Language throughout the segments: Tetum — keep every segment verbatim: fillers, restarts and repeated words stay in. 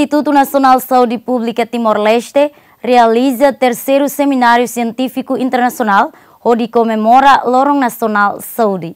Instituto Nacional Saúde Pública Timor-Leste realiza terceiro seminário científico internacional hodi komemora Loron Nasionál Saúde.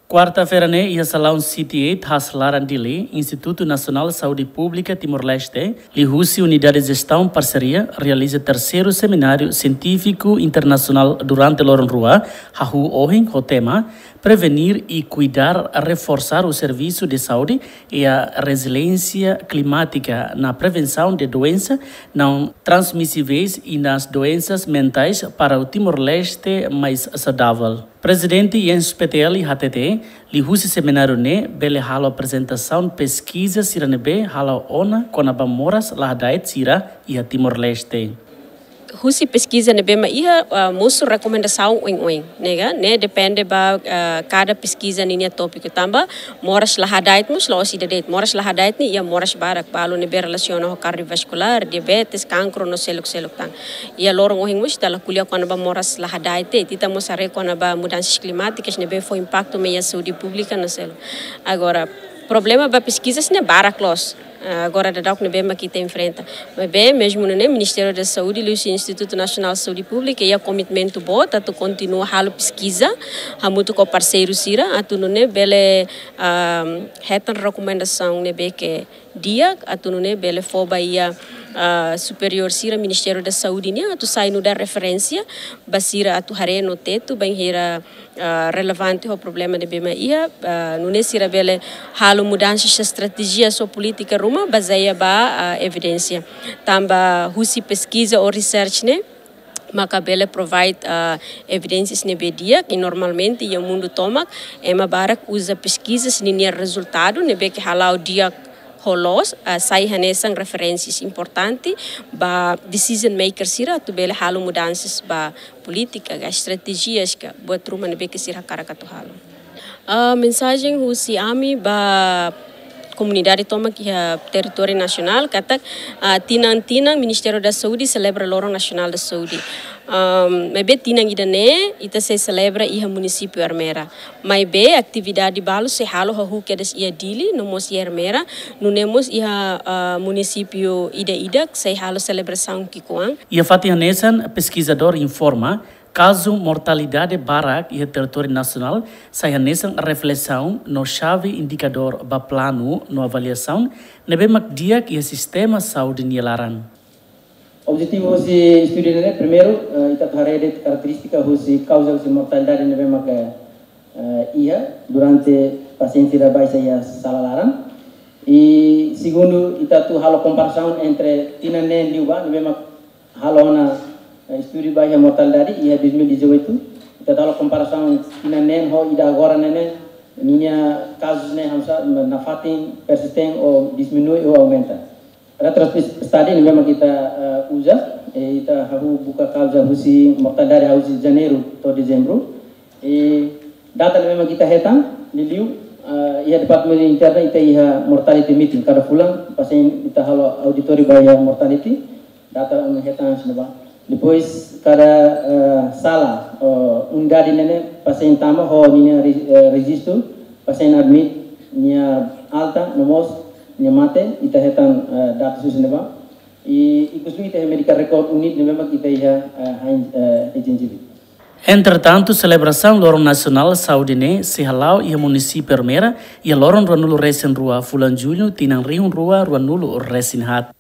Kuarta-feira ne'e iha salaun C T eight Haas Laran Dili, Instituto Nacional Saúde Pública Timor-Leste, liuhusi Unidade Gestão Parceria, realiza terceiro seminário científico internacional durante loron rua, hahú ohin ho tema Prevenir e Cuidar, Reforçar o Serviço de Saúde e a Resiliência Climática na Prevenção de Doenças Não Transmissíveis e nas Doenças Mentais para o Timor-Leste Mais Saudável. Prezidente Jens Petelli hatete, liuhusi semináriu ne'e bele halo aprezentasaun peskiza sira ne'ebé hala'o ona kona-ba moras la hada'et sira iha Timor-Leste. Husi peskiza ne'ebé mak iha, ah, mosu rekomendasaun oin-oin, ne'e ka, ne'e depende ba, ah, kada peskiza ninia tópiku tanba moras la hada'et mós la'ós ida de'it. Moras la hada'et ne'e iha moras barak, balu ne'ebé relasiona ho kardiovaskulár, diabetes, kankru no seluk-seluk tan. Iha loron ohin mós ita la ko'alia kona-ba moras la hada'et de'it, ita mós haree kona-ba mudansas klimátikas ne'ebé fó impaktu mai iha saúde públika no seluk. Agora, problema ba peskiza sira-ne'e barak loos. Ah, agora daudaun ne'ebé mak ita enfrenta. Maibé, mezmu nune'e, Ministériu da Saúde, liuhusi Instituto Nacional Saúde Pública, iha komitmentu boot atu kontinua halo peskiza, hamutuk ho parseiru sira, atu nune'e bele, ah, hetan rekomendasaun ne'ebé ke di'ak, atu nune'e bele fó ba iha, ah, superiór sira Ministériu da Saúde nian, atu sai nu'udar referénsia ba sira atu haree no tetu bainhira, ah, relevante ho problema ne'ebé mak iha, ah, nune'e sira bele halo mudansa estratéjia no polítika ruma bazeia ba, ah, evidénsia. Tanba husi peskiza ou research ne'e maka bele provide, ah, evidénsias ne'ebé di'ak, i normalmente iha mundu tomak ema barak uza peskiza sira-nia rezultadu ne'ebé ke hala'o di'ak ho loos, ah, sai hanesan referénsias importante ba decision maker sira atu bele halo mudansas ba polítika ka, estratéjias ka, buat ruma ne'ebé ke sira hakarak atu halo. Ah, mensajen husi ami ba komunidade tomak iha territóriu nasionál katak, ah, tinan-tinan Ministériu da Saúde selebra Loron Nasionál da Saúde. Ahm, maibé tinan ida-ne'e ita sei selebra iha munisípiu Ermera. Maibé atividade balu sei halo hahú kedas iha Dili no mós iha Ermera, nune'e mós iha, ah, munisípiu ida-idak sei halo selebrasaun ki'ikoan. Iha fatin hanesan, peskizadór informa, kazu mortalidade barak iha territóriu nasionál sai hanesan reflesaun no xave indikadór ba planu no avaliasaun ne'ebé mak di'ak iha sistema saúde nia laran. Objetivu husi estudu ne'e, primeiru, eh, ita atu haree de'it karakterístika husi kauza husi mortalidade ne'ebé mak, eh, iha durante pasiente sira baixa iha sala laran. I segundu, ita atu halo komparasaun entre tinan neen liubá ne'ebé mak halo ona, eh, estudu ba iha mortalidade iha dois mil e dezoito. Ita atu halo komparasaun tinan neen ho ida agora ne'e, ninia kazus ne'e hamsa nafatin persisten ou diminui ou aumenta. Retrospect study ne'ebé mak ita, eh, uza, eh, ita hahú buka kauza husi mortalidade husi Janeiru to'o Dezembru. I data ne'ebé mak ita hetan, liuliu, eh, iha Departamentu Interna ita iha mortality meeting kada fulan, pasiente ita halo auditóriu ba iha mortality, data ami hetan hanesan ne'ebá. Depois kada, eh, sala, eh, unidade ne'e, pasiente tama ho ninia re-, eh, rejistu, pasiente admit, nia alta, no mós nia mate, ita hetan, eh, data hanesan ne'ebá. I ikus liu ita iha medical record unit ne'ebé mak ita iha, eh, hain, eh, agensi. Entretantu, selebrasaun Loron Nasionál Saúde ne'e sei hala'o iha munisípiu Ermera iha loron ruanulu-resin-rua fulan Jullu tinan rihun rua ruanulu-resin-haat.